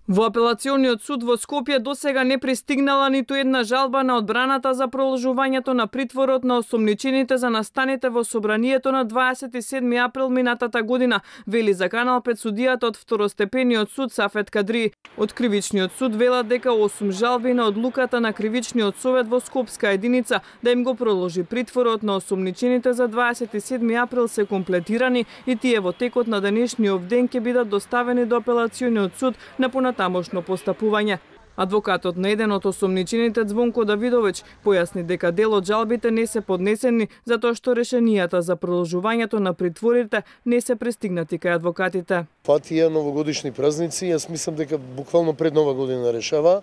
Во апелациониот суд во Скопје досега не пристигнала ниту една жалба на одбраната за продолжувањето на притворот на осомничените за настаните во собранието на 27 април минатата година, вели за Канал 5 судијата од второстепениот суд Сафет Кадри. Од кривичниот суд велат дека 8 жалби на одлуката на кривичниот совет во Скопска единица да им го продолжи притворот на осомничените за 27 април се комплетирани и тие во текот на денешниот ден ќе бидат доставени до апелациониот суд на тамошно постапување. Адвокатот на еден од осомничените Звонко Давидович појасни дека дел од жалбите не се поднесени затоа што решенијата за продолжувањето на притворите не се пристигнати кај адвокатите. Тие новогодишни празници, јас мислам дека буквално пред Нова година решава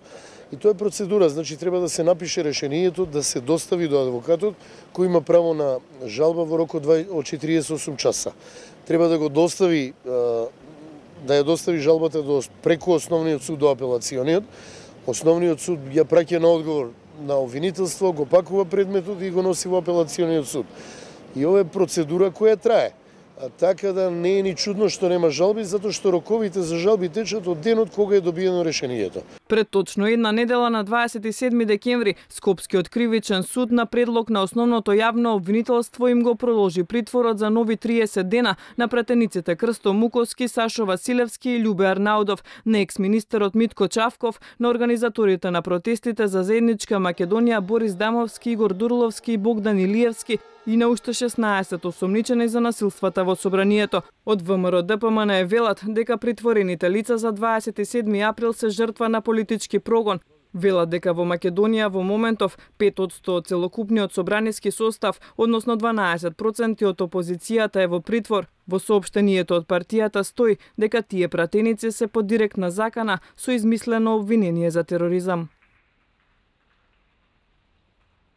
и тоа е процедура, значи треба да се напише решението, да се достави до адвокатот кој има право на жалба во рок од 48 часа. Треба да го достави да ја достави жалбата преку основниот суд до апелациониот. Основниот суд ја праќа на одговор на обвинителство, го пакува предметот и го носи во апелациониот суд. И ова е процедура која трае. Така да не е ни чудно што нема жалби, затоа што роковите за жалби течат од денот кога е добиено решението. Пред точно една недела на 27 декември, Скопскиот кривичен суд на предлог на основното јавно обвинителство им го продолжи притворот за нови 30 дена на пратениците Крсто Муковски, Сашо Василевски и Љубе Арнаудов, на екс-министерот Митко Чавков, на организаторите на протестите за заедничка Македонија Борис Дамовски, Игор Дурловски и Богдан Илиевски, и на уште 16 осомничени за насилствата во собранието. Од ВМРО ДПМН велат дека притворените лица за 27 април се жртва на политички прогон. Велат дека во Македонија во моментов 5% од целокупниот собраниски состав, односно 12% од опозицијата е во притвор. Во соопштението од партијата стои дека тие пратеници се под директна закана со измислено обвинение за тероризам.